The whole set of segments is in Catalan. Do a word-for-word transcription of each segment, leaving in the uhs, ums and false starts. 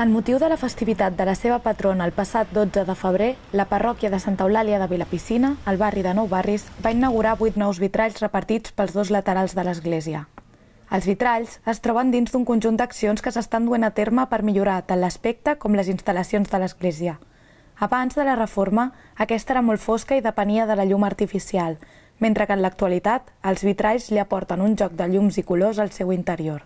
En motiu de la festivitat de la seva patrona el passat dotze de febrer, la parròquia de Santa Eulàlia de Vilapicina, al barri de Nou Barris, va inaugurar vuit nous vitralls repartits pels dos laterals de l'església. Els vitralls es troben dins d'un conjunt d'accions que s'estan duent a terme per millorar tant l'aspecte com les instal·lacions de l'església. Abans de la reforma, aquesta era molt fosca i depenia de la llum artificial, mentre que en l'actualitat els vitralls li aporten un joc de llums i colors al seu interior.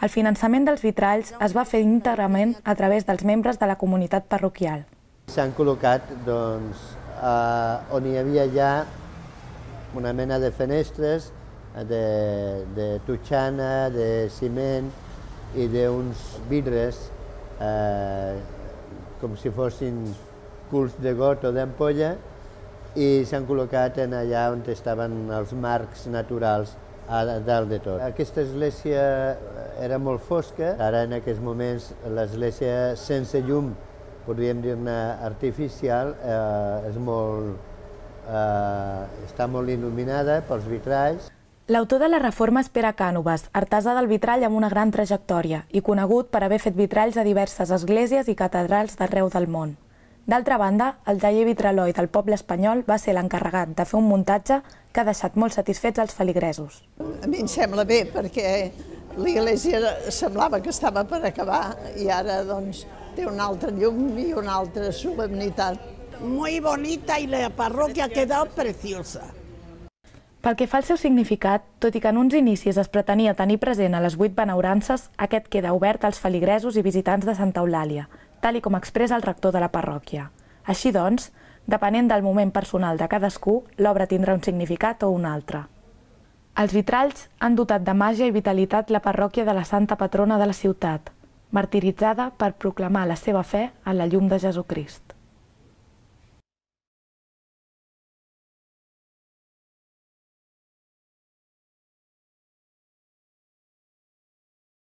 El finançament dels vitralls es va fer íntegrament a través dels membres de la comunitat parroquial. S'han col·locat doncs, eh, on hi havia ja una mena de finestres de, de totxana, de ciment i d'uns vidres eh, com si fossin culs de got o d'ampolla, i s'han col·locat en allà on estaven els marcs naturals a dalt de tot. Aquesta església era molt fosca, ara en aquests moments l'església sense llum, podríem dir-ne artificial, eh, és molt, eh, està molt il·luminada pels vitralls. L'autor de la reforma és Pere Cànoves, artesà del vitrall amb una gran trajectòria i conegut per haver fet vitralls a diverses esglésies i catedrals d'arreu del món. D'altra banda, el taller vitraloi del poble espanyol va ser l'encarregat de fer un muntatge que ha deixat molt satisfets els feligresos. A mi em sembla bé perquè l'església semblava que estava per acabar i ara doncs té un altre llum i una altra solemnitat. Muy bonita y la parroquia ha quedado preciosa. Pel que fa al seu significat, tot i que en uns inicis es pretenia tenir present a les vuit benaurances, aquest queda obert als feligresos i visitants de Santa Eulàlia, tal i com expressa el rector de la parròquia. Així doncs, depenent del moment personal de cadascú, l'obra tindrà un significat o un altre. Els vitralls han dotat de màgia i vitalitat la parròquia de la santa patrona de la ciutat, martiritzada per proclamar la seva fe en la llum de Jesucrist.